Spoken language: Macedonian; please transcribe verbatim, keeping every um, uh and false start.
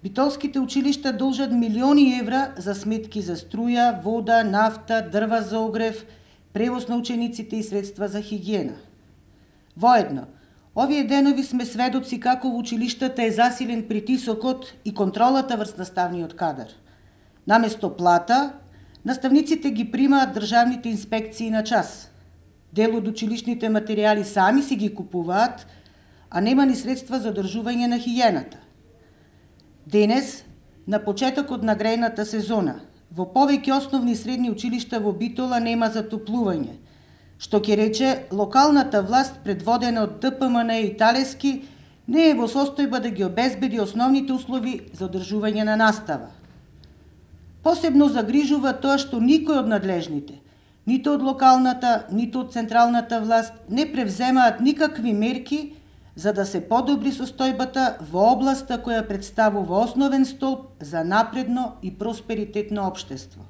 Битолските училишта должат милиони евра за сметки за струја, вода, нафта, дрва за огрев, превоз на учениците и средства за хигиена. Воедно, овие денови сме сведоци како во училиштата е засилен притисокот и контролата врз наставниот кадар. Наместо плата, наставниците ги примаат државните инспекции на час. Дел од училишните материјали сами си ги купуваат, а нема ни средства за одржување на хигиената. Денес, на почетокот на грејната сезона, во повеќе основни и средни училишта во Битола нема затоплување, што ќе рече локалната власт предводена од Д П М Н и Талески не е во состојба да ги обезбеди основните услови за одржување на настава. Посебно загрижува тоа што никој од надлежните, нито од локалната, нито од централната власт, не превземаат никакви мерки за да се подобри состојбата во областа која представува основен столб за напредно и просперитетно општество.